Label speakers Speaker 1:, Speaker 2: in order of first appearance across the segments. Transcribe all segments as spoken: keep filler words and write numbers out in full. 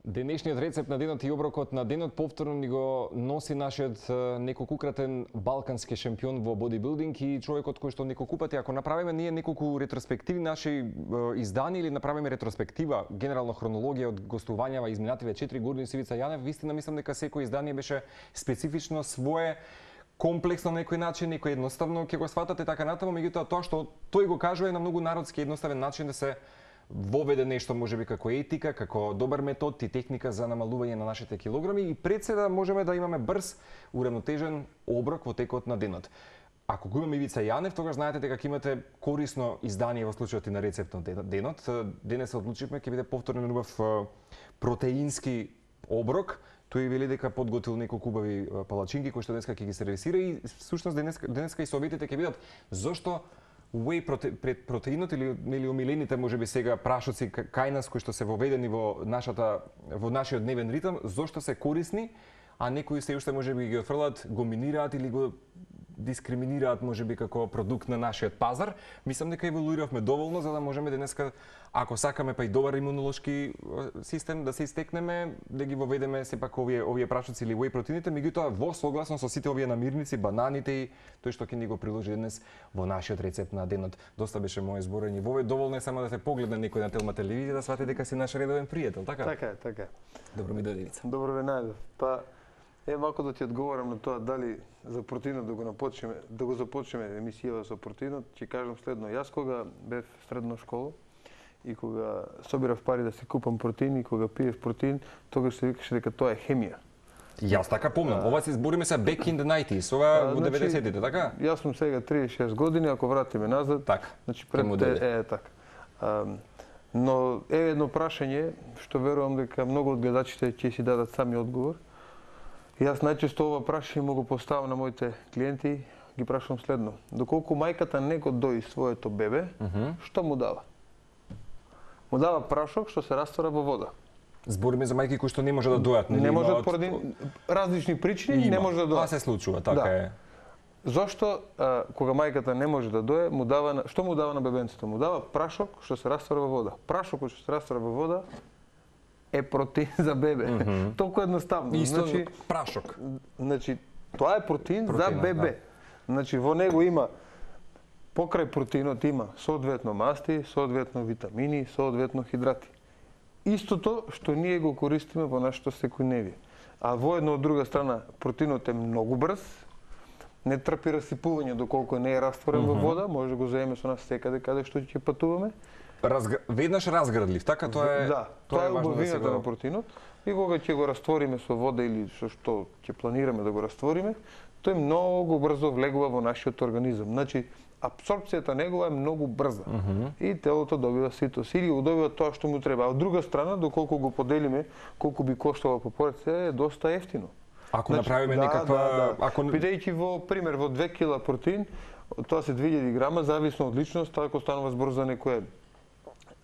Speaker 1: Денешниот рецепт на денот и оброкот на денот повторно ни го носи нашиот неколкукратен балкански шампион во бодибилдинг и човекот кој што неколку пати, ако направиме ние неколку ретроспективи наши издани или направиме ретроспектива, генерално хронологија од гостувањава изминативе четири години со Ивица Јанев, вистина мислам дека секој издание беше специфично свое, комплексно на некој начин, некој едноставно ќе го сватате така натаму, меѓутоа тоа што тој го кажува е на многу народски едноставен начин да се воведе нешто можеби како етика, како добар метод и техника за намалување на нашите килограми и пред се да можеме да имаме брз, уравнотежен оброк во текот на денот. Ако го имаме Ивица Јанев, тогаш знаете дека ќе имате корисно издание во случајот и на рецепт на денот. Денес се одлучивме ќе биде повторен убав протеински оброк. Тој вели дека подготвил неколку убави палачинки кои што денеска ќе ги сервисира и всушност денеска денеска и советите ќе бидат зошто whey проте, пред протеинот или нели омилените можеби сега прашоци кај нас кои што се воведени во нашата во нашиот дневен ритм, зошто се корисни, а некои се уште можеби ги отфрлат, го минираат или го дискриминираат можеби како продукт на нашиот пазар. Мислам дека еволуиравме доволно за да можеме денеска, ако сакаме па и добар имунолошки систем да се истекнеме, да ги воведеме сепак овие овие прашоци или whey протеините, меѓутоа во согласно со сите овие намирници, бананите и тој што ќе ни го приложи денес во нашиот рецепт на денот. Доста беше моје зборење вове, доволно е само да те погледне некој на Телма телевизија да свати дека си наш редовен пријател, така?
Speaker 2: Така е, така е.
Speaker 1: Добро ми дојде, Ивица.
Speaker 2: Добро ве најдов. Па е малку да ти одговорам на тоа дали за протеинот да го напочнеме, да го започнеме емисијава со протеинот, ќе кажам следно. Јас кога бев средна школа и кога собирав пари да си купам протеин и кога пиев протеин, тогаш се викаше дека тоа е хемија.
Speaker 1: Јас така помнам. Ова се збориме се back in the nineties, ова во деветдесетите, така?
Speaker 2: Јас сум сега триесет и шест години, ако вратиме назад,
Speaker 1: така.
Speaker 2: Значи пред е, е така. А, но е едно прашање што верувам дека многу од гледачите ќе си дадат сами одговор. Јас најчесто ова прашање му го поставам на моите клиенти, ги прашувам следно: доколку мајката не го дои своето бебе, uh -huh. што му дава? Му дава прашок што се раствара во вода.
Speaker 1: Збориме за мајки кои што не може да дојат,
Speaker 2: нели? Не можат поради различни причини, не може да дојат.
Speaker 1: Тоа се случува, така да. Е.
Speaker 2: Зошто а, кога мајката не може да дое, му дава што му дава на бебенцето? Му дава прашок што се раствара во вода. Прашокот што се раствара во вода е протеин за бебе. Mm -hmm. Толку едноставно.
Speaker 1: Исто, значи прашок.
Speaker 2: Значи тоа е протеин Протеина, за бебе. Да. Значи во него има покрај протеинот има соодветно масти, соодветно витамини, соодветно хидрати. Истото што ние го користиме во нашето секојдневие. А во една од друга страна протеинот е многу брз, не трпи расипување доколку не е растворен mm -hmm. во вода, може да го земеме со нас секаде каде што ќе патуваме.
Speaker 1: Разгр... Веднаш разградлив, така тоа е.
Speaker 2: Да, тоа, тоа е убавината да го... на протеинот. И кога ќе го раствориме со вода или со што ќе планираме да го раствориме, тој многу брзо влегува во нашиот организам. Значи апсорпцијата негова е многу брза. Uh -huh. И телото добива ситос или го добива тоа што му треба. А од друга страна, доколку го поделиме колку би коштало по порција, е доста ефтино.
Speaker 1: Ако значи, направиме да, некаква
Speaker 2: да, да.
Speaker 1: ако
Speaker 2: бидејќи во пример во две кила протеин, тоа се две илјади грама, зависно од личност, ако станува збор за некоја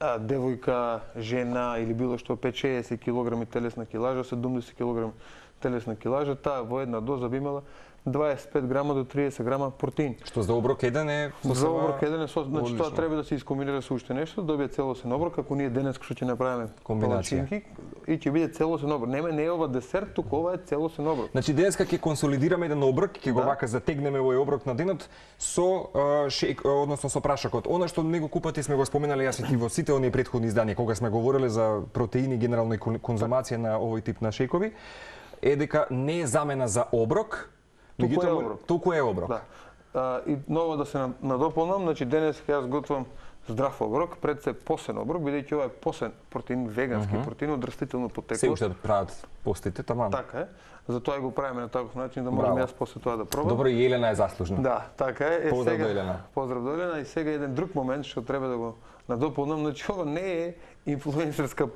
Speaker 2: а, девојка, жена или било што пет шеесет килограми телесна килажа, седумдесет килограми телесна килажа, таа во една доза би имала дваесет и пет грама до триесет грама протеин.
Speaker 1: Што за оброк еден е
Speaker 2: за оброк еден е со, значи тоа треба да се искомбинира со уште нешто, да добие целосен оброк, ако ние денес што ќе направиме
Speaker 1: комбинација
Speaker 2: и ќе биде целосен оброк. Нема не е ова десерт, туку ова е целосен оброк.
Speaker 1: Значи денеска ќе консолидираме еден оброк, ќе го да. Вака затегнеме овој оброк на денот со uh, шейк, односно со прашокот. Она што неколку пати сме го споменали јас и ти во сите оние претходни изданија кога сме говореле за протеини и генерално и конзумација на овој тип на шејкови, е дека не е замена за оброк.
Speaker 2: Туку е оброк.
Speaker 1: Туку е оброк.
Speaker 2: Да. А, и ново да се надополнам, значи денес јас готвам здрав оброк, пред се посен оброк, бидејќи ова е посен протеин, вегански uh -huh. протеин од растително потекло.
Speaker 1: Се уште прават постите таман.
Speaker 2: Така е. Затоа го правиме на таков начин да можам јас после тоа да пробам.
Speaker 1: Добро, и Елена е заслужна.
Speaker 2: Да, така е. е
Speaker 1: поздрав
Speaker 2: сега,
Speaker 1: до Елена.
Speaker 2: Поздрав до Елена. И сега еден друг момент што треба да го надополнам, значи ова не е инфлуенсерска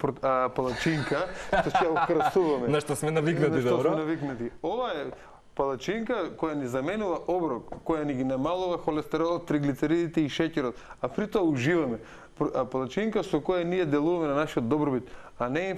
Speaker 2: палачинка што ќе ја украсуваме.
Speaker 1: На што сме навикнати, добро?
Speaker 2: На што сме навикнати. Ова е палачинка која ни заменува оброк, која ни ги намалува холестеролот, триглицеридите и шеќерот, а при тоа уживаме. А палачинка со која ние делуваме на нашиот добробит, а не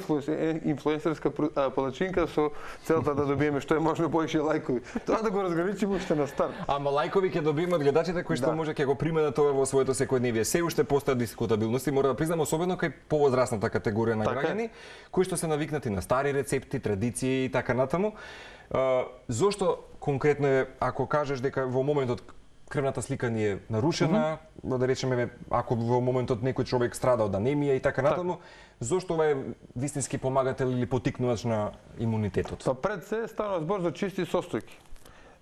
Speaker 2: инфлуенсерска палачинка со целта да добиеме што е можно поише лајкови. Тоа да го разграничиме уште на старт.
Speaker 1: Ама лајкови ќе добиеме од гледачите кои што
Speaker 2: Да.
Speaker 1: може ќе го применат тоа во своето секојдневие. Се уште постојат дискутабилности, мора да признам, особено кај повозрасната категорија на
Speaker 2: Така е.
Speaker 1: граѓани, кои што се навикнати на стари рецепти, традиции и така натаму. А, зошто конкретно е, ако кажеш дека во моментот крвната слика ни е нарушена, mm -hmm. да речеме, ако во моментот некој човек страда од анемија и така натаму, зошто ова е вистински помагател или потикнувач на имунитетот?
Speaker 2: Па пред се станува збор за чисти состојки.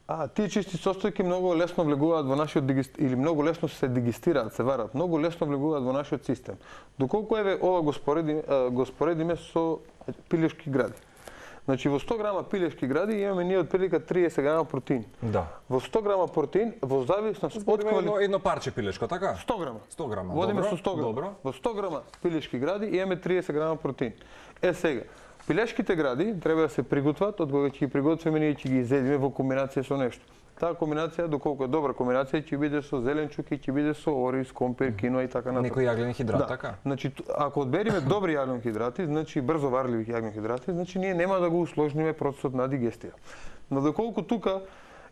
Speaker 2: А тие чисти состојки многу лесно влегуваат во нашиот дигест... или многу лесно се дигестираат, се варат, многу лесно влегуваат во нашиот систем. Доколку еве ова го споредиме, го споредиме со пилешки гради. Значи во сто грама пилешки гради имаме ние отприлика триесет грама протеин.
Speaker 1: Да.
Speaker 2: Во сто грама протеин во зависност од
Speaker 1: Од
Speaker 2: квали...
Speaker 1: едно, едно парче пилешко, така?
Speaker 2: сто грама.
Speaker 1: сто грама.
Speaker 2: Водиме
Speaker 1: Добро,
Speaker 2: со сто грама.
Speaker 1: Добро.
Speaker 2: Во сто грама пилешки гради имаме триесет грама протеин. Е сега, пилешките гради треба да се приготват, од кога ќе ги приготвиме ние ќе ги изедиме во комбинација со нешто. Таа комбинација, доколку е добра комбинација, ќе биде со зеленчук и ќе биде со ориз, компир, киноа и така натаму.
Speaker 1: Некој јаглен хидрат,
Speaker 2: Да.
Speaker 1: така?
Speaker 2: Значи, т- ако одбериме добри јаглен-хидрати, значи брзо варливи јаглен-хидрати, значи ние нема да го усложниме процесот на дигестија. Но доколку тука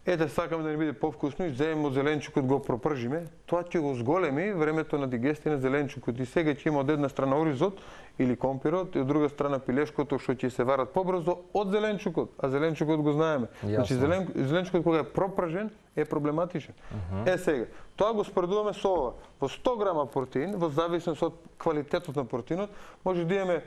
Speaker 2: ете сакаме да ни биде повкусно и земеме од зеленчукот го пропржиме, тоа ќе го зголеми времето на дигестија на зеленчукот и сега ќе има од една страна оризот или компирот и од друга страна пилешкото што ќе се варат побрзо од зеленчукот, а зеленчукот го знаеме. Значи зелен, зеленчукот кога е пропржен е проблематичен. Uh -huh. Е сега, тоа го споредуваме со ова. Во сто грама протеин, во зависност од квалитетот на протеинот, може да имаме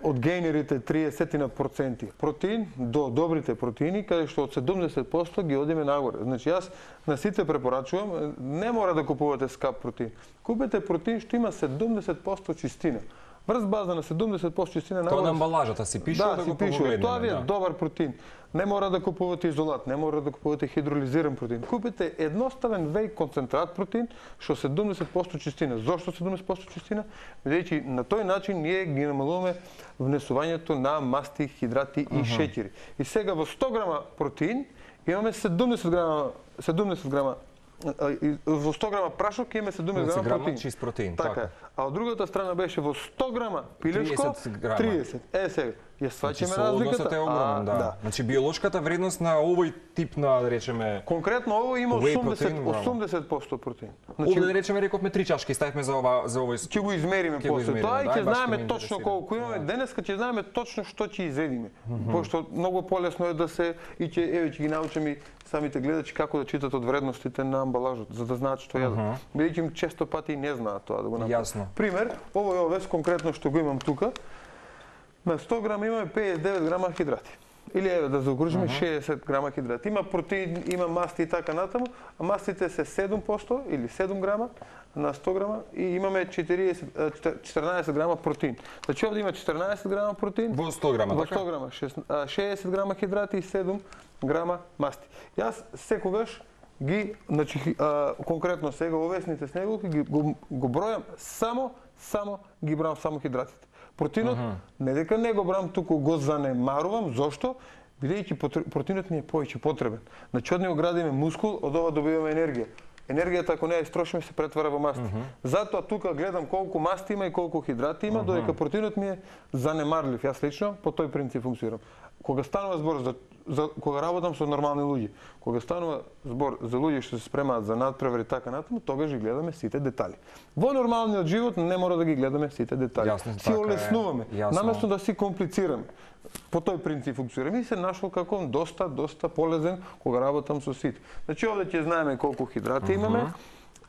Speaker 2: од гейнерите триесет проценти протеин до добрите протеини, каде што од седумдесет проценти ги одиме нагоре. Значи јас на сите препорачувам, не мора да купувате скап протеин. Купете протеин што има седумдесет проценти чистина. Врз база на седумдесет проценти чистина
Speaker 1: Тоа
Speaker 2: нагоре.
Speaker 1: на амбалажата си пише да,
Speaker 2: Да,
Speaker 1: да
Speaker 2: си
Speaker 1: го
Speaker 2: пише,
Speaker 1: погледнеме.
Speaker 2: тоа ви е
Speaker 1: Да.
Speaker 2: добар протеин. Не мора да купувате изолат, не мора да купувате хидролизиран протеин. Купите едноставен веј концентрат протеин што седумдесет проценти чистина. Зошто седумдесет проценти чистина? Бидејќи на тој начин ние ги намалуваме внесувањето на масти, хидрати и uh -huh. шеќери. И сега во сто грама протеин имаме седумдесет грама седумдесет грама во сто грама прашок имаме седумдесет грама протеин.
Speaker 1: чист протеин,
Speaker 2: така.
Speaker 1: така.
Speaker 2: А од другата страна беше во сто грама пилешко
Speaker 1: триесет грама.
Speaker 2: триесет. Е сега, ја
Speaker 1: Значи,
Speaker 2: сваќаме
Speaker 1: соодносот
Speaker 2: разликата.
Speaker 1: е огромен,
Speaker 2: А,
Speaker 1: да.
Speaker 2: да.
Speaker 1: Значи биолошката вредност на овој тип на, да речеме,
Speaker 2: Конкретно ово има
Speaker 1: Whey
Speaker 2: осумдесет
Speaker 1: протеин, браво.
Speaker 2: осумдесет проценти протеин.
Speaker 1: Значи, овде да речеме рековме три чашки, ставивме за ова за овој
Speaker 2: ќе го измериме
Speaker 1: Ќе го
Speaker 2: после
Speaker 1: измериме,
Speaker 2: тоа и
Speaker 1: да,
Speaker 2: ќе
Speaker 1: баш ќе
Speaker 2: знаеме
Speaker 1: ме
Speaker 2: точно
Speaker 1: интересира.
Speaker 2: колку имаме. Денеска ќе знаеме точно што ќе изедиме. Пошто многу полесно е да се и ќе еве ќе ги научиме и самите гледачи како да читат од вредностите на амбалажот, за да знаат што јадат. Бидејќи често пати и не знаат тоа да го направат.
Speaker 1: Јасно.
Speaker 2: Пример, овој овес конкретно што го имам тука, на сто грама имаме педесет и девет грама хидрати. Или еве да заокружиме uh -huh. шеесет грама хидрати. Има протеин, има масти и така натаму, а мастите се седум проценти или седум грама на сто грама и имаме четириесет, четрнаесет грама протеин. Значи овде има четрнаесет грама протеин.
Speaker 1: Во сто грама,
Speaker 2: во
Speaker 1: така?
Speaker 2: сто грама, шеесет грама хидрати и седум грама масти. Јас секогаш ги, значи а, конкретно сега овесните снеголки ги го, го бројам само само ги бројам само хидратите. Протеинот, uh -huh. не дека не го брам, туку го занемарувам. Зошто? Бидејќи протеинот ни е повеќе потребен. Значи од него градиме мускул, од ова добиваме енергија. Енергијата ако не ја истрошиме се претвара во масти. Uh -huh. Затоа тука гледам колку масти има и колку хидрати има, uh -huh. додека протеинот ми е занемарлив. Јас лично по тој принцип функционирам. Кога станува збор за, за кога работам со нормални луѓе, кога станува збор за луѓе што се спремаат за надпревари така натаму, тогаш ги гледаме сите детали. Во нормалниот живот не мора да ги гледаме сите детали.
Speaker 1: Јасно,
Speaker 2: си
Speaker 1: така е.
Speaker 2: олеснуваме,
Speaker 1: Јасно.
Speaker 2: наместо да си комплицираме. По тој принцип функционираме и се нашол како доста доста полезен кога работам со сите. Значи овде ќе знаеме колку хидрати имаме,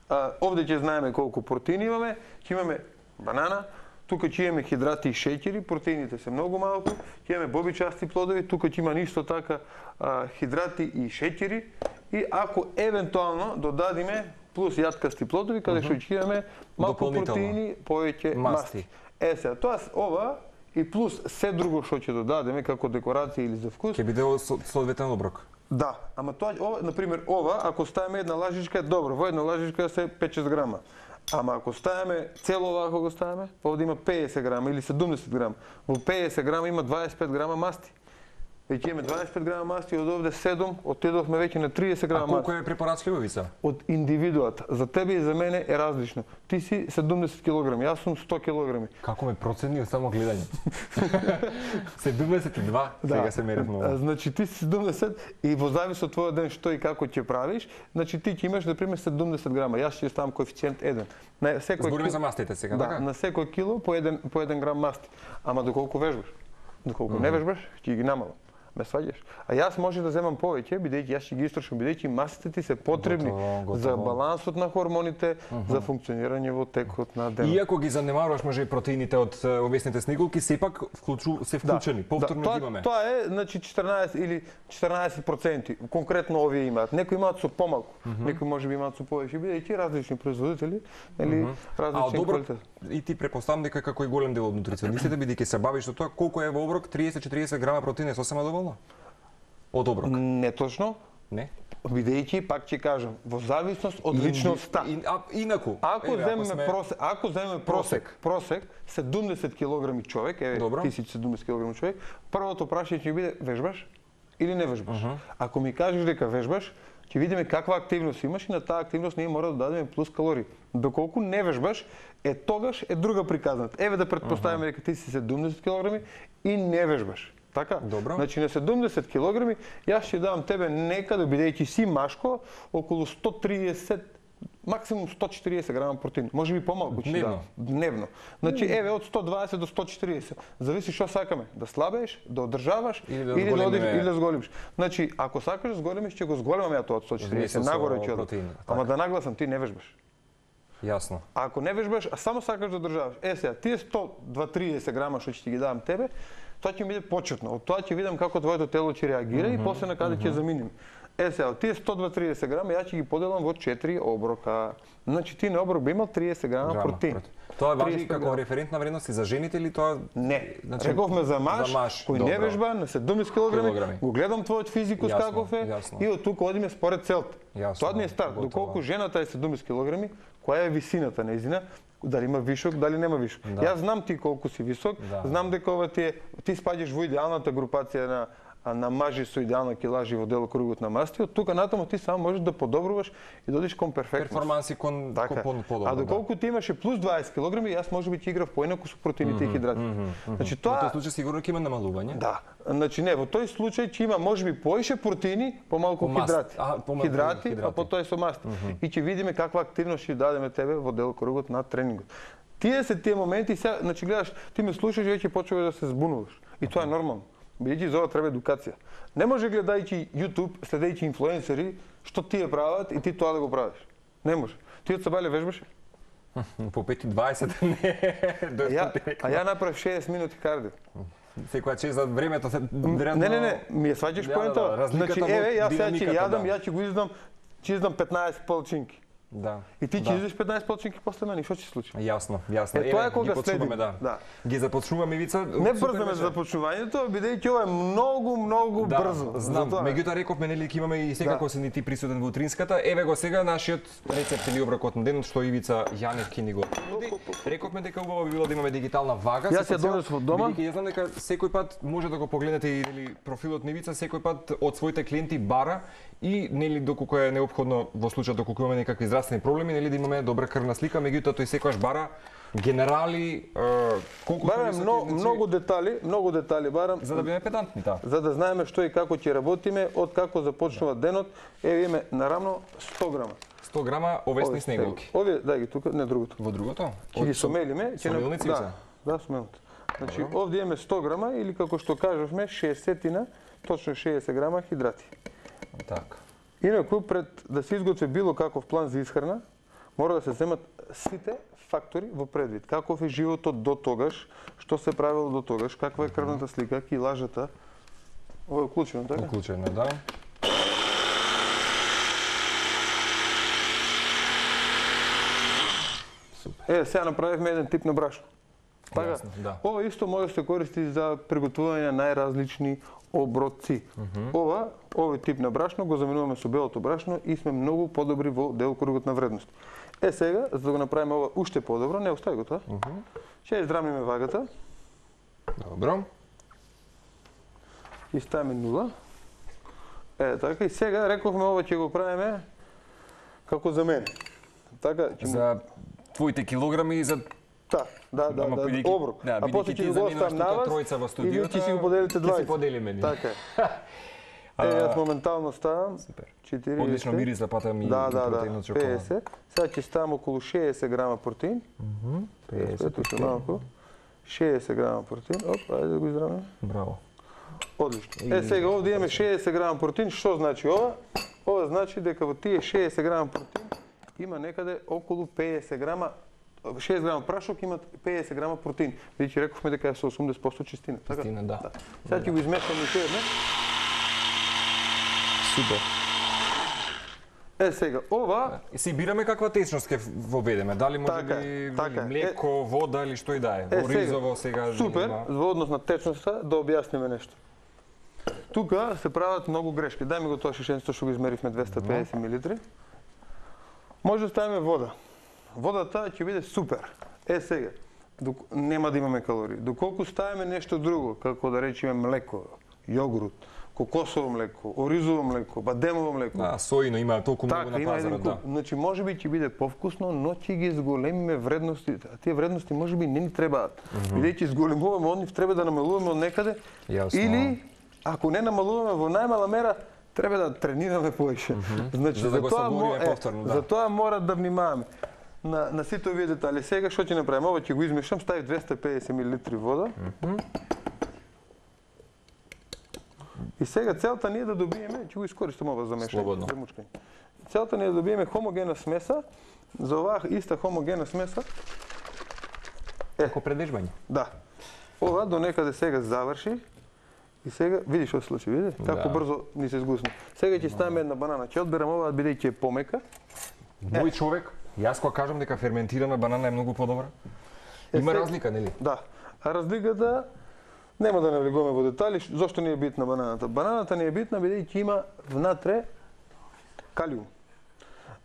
Speaker 2: а, овде ќе знаеме колку протеини имаме, ќе имаме банана, тука ќе имаме хидрати и шеќери, протеините се многу малку, ќе имаме бобичасти плодови, тука ќе има нисто така а, хидрати и шеќери и ако евентуално додадиме плюс јаткасти плодови, каде што ќе имаме малку протеини, повеќе масти. Е сега, тоа ова и плюс се друго што ќе додадеме како декорација или за вкус.
Speaker 1: Ќе биде соодветен оброк.
Speaker 2: Да, ама тоа ова, на пример, ова ако ставиме една лажичка е добро, во една лажичка се пет-шест грама. Ама ако ставиме цело ова, ако го ставиме, овде има педесет грама или седумдесет грама. Во педесет грама има дваесет и пет грама масти. Веќе имаме дваесет и пет грама масти, од овде седум, отидовме веќе на триесет грама
Speaker 1: масти. А колку
Speaker 2: масти.
Speaker 1: е препорачливо, Ивица?
Speaker 2: Од индивидуата. За тебе и за мене е различно. Ти си седумдесет килограми, јас сум сто килограми.
Speaker 1: Како ме процени само гледање? седумдесет и два, сега се мерев многу.
Speaker 2: Значи ти си седумдесет и во завис од твојот ден што и како ќе правиш, значи ти ќе имаш на пример седумдесет грама. Јас ќе ставам коефициент еден. На секој
Speaker 1: Збориме за мастите сега,
Speaker 2: да,
Speaker 1: така?
Speaker 2: на секој кило по еден по еден грам масти. Ама доколку вежбаш? Доколку mm -hmm. не вежбаш, ќе ги намалам. Ме сваѓаш. А јас може да земам повеќе, бидејќи јас ќе ги истрошам, бидејќи мастите ти се потребни готово, готово. За балансот на хормоните, uh -huh. за функционирање во текот на денот.
Speaker 1: Иако ги занемаруваш може и протеините од овесните снеголки, сепак вклучу, се вклучени, да, повторно
Speaker 2: да,
Speaker 1: ги имаме.
Speaker 2: Тоа е, значи четрнаесет или четрнаесет проценти. Конкретно овие имаат. Некои имаат со помалку, uh -huh. некои можеби имаат со повеќе, бидејќи различни производители или uh -huh. различни квалитет.
Speaker 1: И ти препоставам дека како и голем дел од нутриционистите, бидејќи се бавиш со тоа, колку е во оброк триесет до четириесет грама протеин е сосема доволно? Од оброк?
Speaker 2: Не точно.
Speaker 1: Не?
Speaker 2: Бидејќи, пак ќе кажам, во зависност од личноста.
Speaker 1: И, а, инаку.
Speaker 2: Ако еве, земеме сме... просек, ако земеме просек, просек, седумдесет килограми човек, еве, Добро. Ти си седумдесет килограми човек, првото прашање ќе биде вежбаш или не вежбаш. Uh -huh. Ако ми кажеш дека вежбаш, ќе видиме каква активност имаш и на таа активност ние мора да дадеме плюс калории. Доколку не вежбаш, е тогаш е друга приказната. Еве да претпоставиме дека ти си седумдесет килограми и не вежбаш. Така?
Speaker 1: Добро.
Speaker 2: Значи на седумдесет килограми јас ќе давам тебе некаде, бидејќи си машко, околу сто триесет, максимум сто четириесет грама протеин. Може би помалку ќе давам. Дневно. Значи еве од сто дваесет до сто четириесет. Зависи што сакаме, да слабееш, да одржаваш или да, или да одиш или да зголемиш. Значи ако сакаш да зголемиш, ќе го зголемам ја тоа од сто четириесет нагоре ќе одам. Ама да нагласам, ти не вежбаш.
Speaker 1: Јасно.
Speaker 2: А ако не вежбаш, а само сакаш да одржаваш. Е сега, тие сто триесет грама што ќе ти ги давам тебе, тоа ќе ми биде почетно. Од тоа ќе видам како твоето тело ќе реагира mm -hmm, и после на каде mm -hmm. ќе заминем. Е сега, тие сто триесет грама ја ќе ги поделам во четири оброка. Значи ти на оброк би имал триесет грама протеин.
Speaker 1: Тоа важи како референтна вредност и за жените или тоа?
Speaker 2: Не. Значи, рековме за маж, за маж кој добро. Не вежба на седумдесет килограми, килограми. Го гледам твојот физикус јасно, каков е јасно. И од тука одиме според целта. Тоа ми е старт. Доколку жената е седумдесет килограми, која е висината нејзина? Дали има вишок, дали нема вишок. Да. Јас знам ти колку си висок, да. Знам дека ова ти е, ти спаѓаш во идеалната групација на на мажи со идеална килажи во делокругот на масти, од тука натаму ти само можеш да подобруваш и да одиш кон перфектност.
Speaker 1: Перформанси кон
Speaker 2: така. Кон подобро. А доколку да. Ти имаше плюс дваесет килограми, јас можеби ќе играв поинаку со протеините mm -hmm, и хидратите. Mm -hmm, значи тоа
Speaker 1: во тој случај сигурно ќе има намалување.
Speaker 2: Да. Значи не, во тој случај ќе има можеби поише протеини, помалку по хидрати. А, по хидрати, хидрати, а потоа со масти. Mm -hmm. И ќе видиме каква активност ќе дадеме тебе во делокругот на тренингот. Тие се тие моменти, сега, значи гледаш, ти ме слушаш и веќе почнуваш да се збунуваш. И тоа е нормално. Бидејќи за ова треба едукација. Не може гледајќи YouTube, следејќи инфлуенсери, што тие прават и ти тоа да го правиш. Не може. Ти од Сабале вежбаш?
Speaker 1: По пет и дваесет не.
Speaker 2: Ја, а ја направив шеесет минути кардио.
Speaker 1: Секоја чест за времето се
Speaker 2: веројатно. Не, не, не, ми ја сваќаш поентава. Да, значи еве јас сега ќе јадам, ја ќе го издам, ќе издам петнаесет полчинки.
Speaker 1: Да.
Speaker 2: И ти ќе
Speaker 1: да.
Speaker 2: Изиш петнаесет полчинки после мене, што ќе се случи?
Speaker 1: Јасно, јасно.
Speaker 2: Е, тоа е кога следиме,
Speaker 1: да. да. Ги започнуваме Ивица.
Speaker 2: Не брзаме за започнувањето, бидејќи ова е многу, многу
Speaker 1: да,
Speaker 2: брзо.
Speaker 1: Знам, меѓутоа рековме нели ќе имаме и секако да. Се ни ти присутен во утринската. Еве го сега нашиот рецепт или оброкот на денот што Ивица Јанев ќе ни го нуди. Рековме дека убаво би било да имаме дигитална вага.
Speaker 2: Јас ја донесов од дома.
Speaker 1: Бидејќи ја знам дека секој пат може да го погледнете или профилот на Ивица, секој пат од своите клиенти бара и нели доколку е неопходно во случај доколку имаме некакви здравствени проблеми, нели да имаме добра крвна слика, меѓутоа тој секогаш бара генерали, колку
Speaker 2: барам много, многу детали, многу детали барам
Speaker 1: за да биме педантни, да.
Speaker 2: За да знаеме што и како ќе работиме, од како започнува да. Денот. Еве имаме наравно сто грама.
Speaker 1: сто грама овесни снеголки.
Speaker 2: Овие, дај ги тука, не другото.
Speaker 1: Во другото?
Speaker 2: Ќе ги сомелиме, ќе
Speaker 1: на
Speaker 2: да, да, сомелните. Значи овде имаме сто грама или како што кажавме шеесетина, точно шеесет грама хидрати.
Speaker 1: Така.
Speaker 2: Инаку пред да се изготви било каков план за исхрана, мора да се земат сите фактори во предвид. Каков е животот до тогаш, што се правило до тогаш, каква е крвната слика, килажата. Ова е уклучено, така?
Speaker 1: Уклучено, да.
Speaker 2: Супер. Е, сега направивме еден тип на брашно. Така,
Speaker 1: Јасно, да.
Speaker 2: Ова исто може да се користи за приготвување на најразлични оброци. Mm -hmm. Ова, овој тип на брашно го заменуваме со белото брашно и сме многу подобри во делокругот на вредност. Е сега, за да го направиме ова уште подобро, не остави го тоа. Mm -hmm. Ќе израмиме вагата.
Speaker 1: Добро.
Speaker 2: и ставиме нула. Е, така, и сега рековме ова ќе го правиме како за мене. Така, ќе
Speaker 1: За твоите килограми и за
Speaker 2: Да, да, да,
Speaker 1: Ама
Speaker 2: да,
Speaker 1: бидејќи-
Speaker 2: оброк.
Speaker 1: да,
Speaker 2: А
Speaker 1: бидејќи
Speaker 2: после
Speaker 1: ти
Speaker 2: ќе го
Speaker 1: заминуваш
Speaker 2: оставам на
Speaker 1: тука
Speaker 2: вас
Speaker 1: тројца во
Speaker 2: и вие
Speaker 1: студиото,
Speaker 2: ќе си го поделите
Speaker 1: ќе си
Speaker 2: двајца.
Speaker 1: поделиме ние.
Speaker 2: Така е. Е, јас моментално ставам
Speaker 1: Супер.
Speaker 2: четириесет.
Speaker 1: Одлично мириса пата ми
Speaker 2: Да,
Speaker 1: и
Speaker 2: да, да,
Speaker 1: протеинот шоколад.
Speaker 2: петдесет. Сега ќе ставам околу шеесет грама протеин.
Speaker 1: петдесет.
Speaker 2: Ето што малку. шеесет грама протеин. Оп, ајде да го изравнаме.
Speaker 1: Браво.
Speaker 2: Одлично. Е, сега овде имаме шеесет грама протеин. Што значи ова? Ова значи дека во тие шеесет грама протеин има некаде околу петдесет грама, шест грама прашок има петдесет грама протеин. Бидејќи рековме дека е со осумдесет проценти чистина. Така?
Speaker 1: Чистина, да.
Speaker 2: Сега ќе го измешаме уште еднаш.
Speaker 1: Супер.
Speaker 2: Е, сега, ова
Speaker 1: И си бираме каква течност ќе воведеме. Дали може
Speaker 2: Така
Speaker 1: би
Speaker 2: е, така е.
Speaker 1: млеко, вода или што и да е.
Speaker 2: Е,
Speaker 1: Во
Speaker 2: сега,
Speaker 1: ризово сега
Speaker 2: супер,
Speaker 1: има.
Speaker 2: во однос на течноста, да објасниме нешто. Тука се прават многу грешки. Дај ми го тоа шишенцето што го измеривме двесте и педесет милилитри. Може да ставиме вода. Водата ќе биде супер. Е сега, док... нема да имаме калории. Доколку ставиме нешто друго, како да речеме млеко, јогурт, кокосово млеко, оризово млеко, бадемово млеко.
Speaker 1: Да, сојно има толку многу
Speaker 2: Така,
Speaker 1: на
Speaker 2: има еден
Speaker 1: пазарот,
Speaker 2: куп.
Speaker 1: да.
Speaker 2: Значи, може би ќе биде повкусно, но ќе ги зголемиме вредностите. А тие вредности може би не ни требаат. Бидејќи зголемуваме од нив, треба да намалуваме од некаде.
Speaker 1: Јасно.
Speaker 2: Или, ако не намалуваме во најмала мера, треба да тренираме повеќе. Значи,
Speaker 1: За да го
Speaker 2: затоа
Speaker 1: сабориме
Speaker 2: мо- е,
Speaker 1: повторно, да.
Speaker 2: затоа мора да внимаваме на, на сите овие детали. Сега што ќе направиме? Ова ќе го измешам, ставив двесте и педесет милилитри вода. И сега целта ни е да добиеме, ќе го искористам ова за мешање,
Speaker 1: Слободно.
Speaker 2: за мучкање. Целта ни е да добиеме хомогена смеса. За оваа иста хомогена смеса,
Speaker 1: Како предежбање.
Speaker 2: да. Ова до некаде сега заврши. И сега, види што се случи, види? Како
Speaker 1: Да.
Speaker 2: брзо ни се згусна. Сега ќе ставиме една банана. Ќе одберам оваа бидејќи е помека.
Speaker 1: Мој човек, јас кога кажам дека ферментирана банана е многу подобра.
Speaker 2: Е,
Speaker 1: Има
Speaker 2: сега-
Speaker 1: разлика, нели?
Speaker 2: Да. А разликата нема да навлегуваме во детали. Ш- Зошто ни е битна бананата? Бананата ни е битна бидејќи има внатре калиум.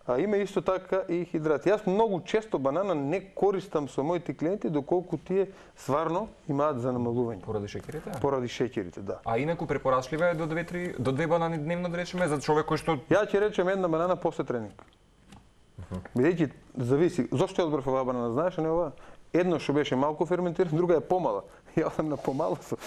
Speaker 2: А има исто така и хидрати. Јас многу често банана не користам со моите клиенти доколку тие сварно имаат за намалување.
Speaker 1: Поради шеќерите?
Speaker 2: Поради шеќерите, да.
Speaker 1: А инаку препорачливо е до две три до две банани дневно да речеме за човек кој што
Speaker 2: Ја ќе речем една банана после тренинг. Бидејќи зависи, зошто ја одбрав оваа банана, знаеш, а не оваа? Едно што беше малку ферментирано, друга е помала. Ја одам на помало со.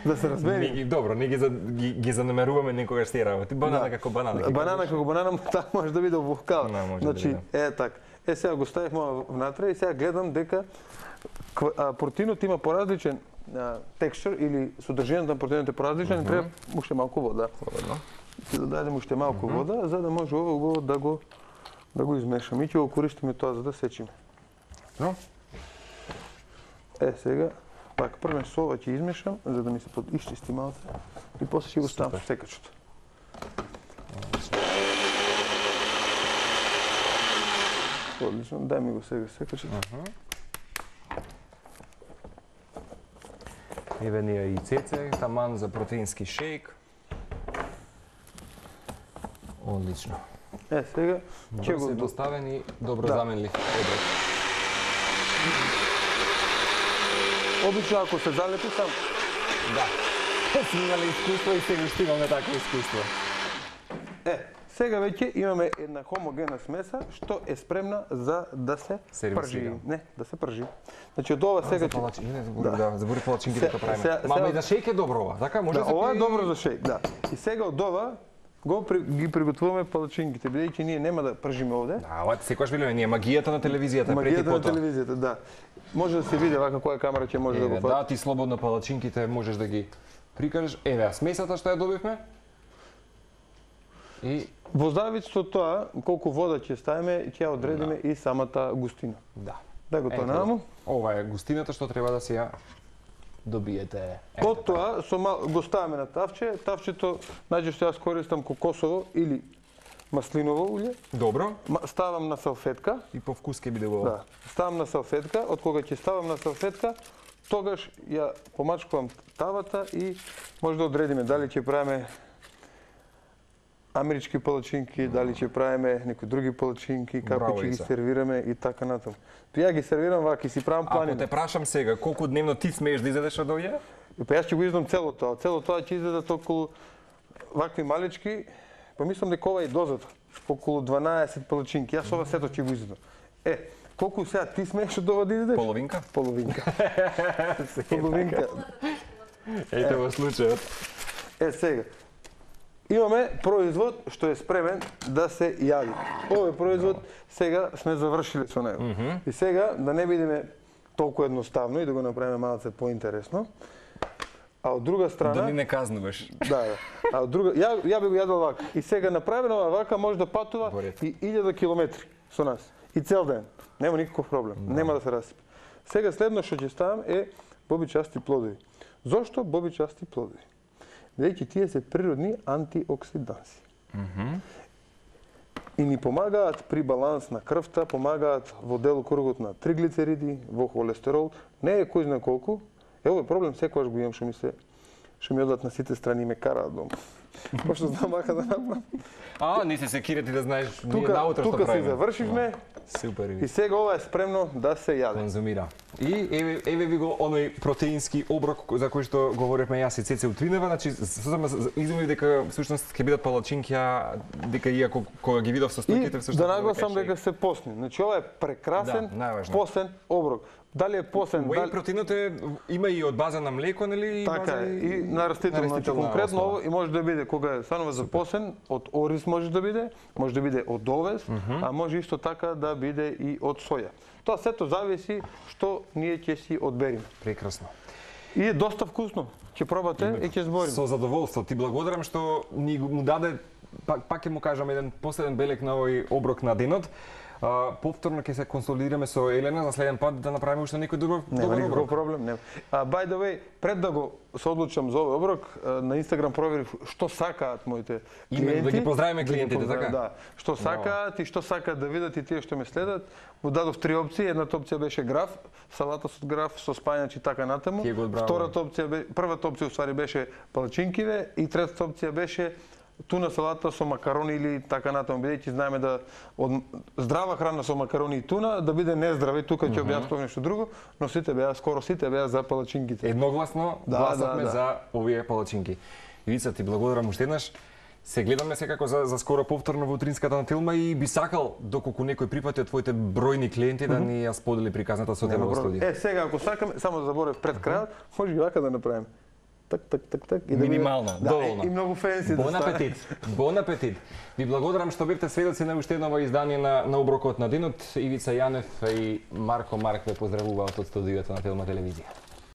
Speaker 2: Да се
Speaker 1: не
Speaker 2: разбереме.
Speaker 1: ги добро, не ги за, ги, ги занемеруваме некогаш тие работи. Банана како банана. ќе
Speaker 2: Банана
Speaker 1: кажеш.
Speaker 2: како банана, таа може да биде овохкала.
Speaker 1: Не, може да
Speaker 2: Значи,
Speaker 1: биде.
Speaker 2: е така. Е сега го ставивме ова внатре и сега гледам дека ква- а, протеинот има поразличен а, текстур или содржината на протеинот е поразличен, mm треба уште малку вода.
Speaker 1: Слободно.
Speaker 2: Ќе додадеме уште малку вода за да може ова убаво да го да го измешаме и ќе го користиме тоа за да сечиме.
Speaker 1: Но,
Speaker 2: Е сега пак првен со ова ќе измешам за да ми се под исчисти малце и после ќе го ставам со секачот. Одлично, дај ми го сега секачот.
Speaker 1: еве ни е и цеце, таман за протеински шејк. Одлично.
Speaker 2: Е сега ќе
Speaker 1: Ќе
Speaker 2: го
Speaker 1: го доставени добро
Speaker 2: Да.
Speaker 1: заменлив оброк.
Speaker 2: обично ако се залепи сам.
Speaker 1: Да. Сме имале искуство и сега уште имаме такво искуство.
Speaker 2: Е, сега веќе имаме една хомогена смеса што е спремна за да се
Speaker 1: Сервисира.
Speaker 2: пржи. Не, да се пржи. Значи од ова сега
Speaker 1: За
Speaker 2: ќе
Speaker 1: палачинки, не забори, да, забори палачинки
Speaker 2: Се-
Speaker 1: дека правиме.
Speaker 2: се-
Speaker 1: Мама
Speaker 2: се-
Speaker 1: и за шејк е добро ова, така? Може
Speaker 2: Да,
Speaker 1: да се
Speaker 2: ова е
Speaker 1: пие-
Speaker 2: добро за шејк, да. И сега од ова го при, ги приготвуваме палачинките, бидејќи ние нема да пржиме овде.
Speaker 1: Да, ова секогаш велиме, ние магијата на телевизијата преки
Speaker 2: Магијата на
Speaker 1: потоа.
Speaker 2: телевизијата, да. Може да се види вака која камера ќе може да
Speaker 1: Еве,
Speaker 2: го фати.
Speaker 1: да, ти слободно палачинките можеш да ги прикажеш. Еве, а смесата што ја добивме? И
Speaker 2: Во завис од тоа колку вода ќе ставиме, ќе ја одредиме и самата густина.
Speaker 1: да.
Speaker 2: Да го
Speaker 1: Ето,
Speaker 2: тоа наму.
Speaker 1: Ова е густината што треба да си ја добиете. Ето,
Speaker 2: Од тоа со мал, го ставиме на тавче. Тавчето најчесто јас користам кокосово или маслиново улје.
Speaker 1: добро.
Speaker 2: Ма- Ставам на салфетка.
Speaker 1: И по вкус ќе биде убаво.
Speaker 2: Да. Ставам на салфетка. Од кога ќе ставам на салфетка, тогаш ја помачкувам тавата и може да одредиме дали ќе правиме амерички палачинки, дали ќе правиме некои други палачинки, како
Speaker 1: Браво,
Speaker 2: ќе ги
Speaker 1: Ица.
Speaker 2: сервираме и така натаму. Ја ги сервирам вака и си правам
Speaker 1: Ако
Speaker 2: планина.
Speaker 1: те прашам сега, колку дневно ти смееш да изедеш од овие?
Speaker 2: Па јас ќе го издам цело тоа. Цело тоа ќе излезат околу вакви малички, па мислам дека ова е дозата. Околу дванаесет палачинки. Јас ова сето ќе го издам. Е, колку сега ти смееш од ова да изедеш?
Speaker 1: Половинка?
Speaker 2: Половинка. Половинка.
Speaker 1: Ете во случајот.
Speaker 2: Е, сега. Имаме производ што е спремен да се јади. Овој производ сега сме завршиле со него. Mm -hmm. И сега да не бидеме толку едноставно и да го направиме малце поинтересно. А од друга страна...
Speaker 1: Да ни не казнуваш.
Speaker 2: Да, да. А од друга... Ја, ја би го јадал вака. И сега направено вака може да патува и илјада километри со нас. И цел ден. Нема никаков проблем. Да. Нема да се расипе. Сега следно што ќе ставам е бобичасти плодови. Зошто бобичасти плодови? Бидејќи тие се природни антиоксиданси.
Speaker 1: Mm -hmm.
Speaker 2: И ни помагаат при баланс на крвта, помагаат во делокругот на триглицериди, во холестерол. Не е кој знае колку. Е, овој проблем секогаш го имам што ми се што ми одат на сите страни и ме караат дома. Пошто знам вака да направам.
Speaker 1: А, не се секирате да знаеш ние
Speaker 2: тука,
Speaker 1: наутро што
Speaker 2: тука
Speaker 1: правиме.
Speaker 2: си завршивме.
Speaker 1: Супер.
Speaker 2: И сега ова е спремно да се јаде.
Speaker 1: Конзумира. И еве еве ви го оној протеински оброк за кој што говоревме јас и Цеце утринава, значи сосема изумив дека всушност ќе бидат палачинки, дека иако кога ги видов состојките всушност
Speaker 2: да нагласам дека се посни. Значи ова е прекрасен
Speaker 1: да,
Speaker 2: посен оброк. Дали е посен,
Speaker 1: Whey
Speaker 2: дали...
Speaker 1: протеинот е има и од база на млеко, нели? И
Speaker 2: така
Speaker 1: база
Speaker 2: е, и на растително, значи конкретно ово и може да биде кога е станува за посен, од ориз може да биде, може да биде од овес, mm -hmm. а може исто така да биде и од соја. Тоа сето зависи што ние ќе си одбериме.
Speaker 1: Прекрасно.
Speaker 2: И е доста вкусно. Ќе пробате и ќе збориме.
Speaker 1: Со задоволство. Ти благодарам што ни му даде, пак, пак ќе му кажам, еден последен белек на овој оброк на денот. Uh, повторно ќе се консолидираме со Елена за следен пат да направиме уште некој добар
Speaker 2: добар оброк. Проблем, нема. А by the way, пред да го се одлучам за овој оброк, на Инстаграм проверив што сакаат моите клиенти.
Speaker 1: Да ги поздравиме клиентите, така?
Speaker 2: Да. Што сакаат и што сакаат да видат и тие што ме следат. Му дадов три опции. Едната опција беше граф, салата со граф со спајач и така натаму. Втората опција бе, првата опција уствари беше палачинкиве и третата опција беше туна салата со макарони или така натаму, бидејќи знаеме да од здрава храна со макарони и туна да биде нездраве, тука ќе објаснам нешто друго, но сите беа, скоро сите беа за палачинките.
Speaker 1: Едногласно
Speaker 2: да,
Speaker 1: гласавме
Speaker 2: да, да.
Speaker 1: за овие палачинки. Ивица, ти благодарам уште еднаш. Се гледаме секако за, за скоро повторно во утринската на Телма и би сакал, доколку некој припати од твоите бројни клиенти, да ни ја сподели приказната со тебе во студио.
Speaker 2: Е, сега, ако сакаме, само да заборев пред крајот, може и вака да направиме. Так, так, так, так.
Speaker 1: И минимално, да, доволно.
Speaker 2: И многу фенси.
Speaker 1: Бон апетит. Бон апетит. Ви благодарам што бевте сведоци на уште едно издание на, на оброкот на денот. Ивица Јанев и Марко Марк ве поздравуваат од студиото на Телма телевизија.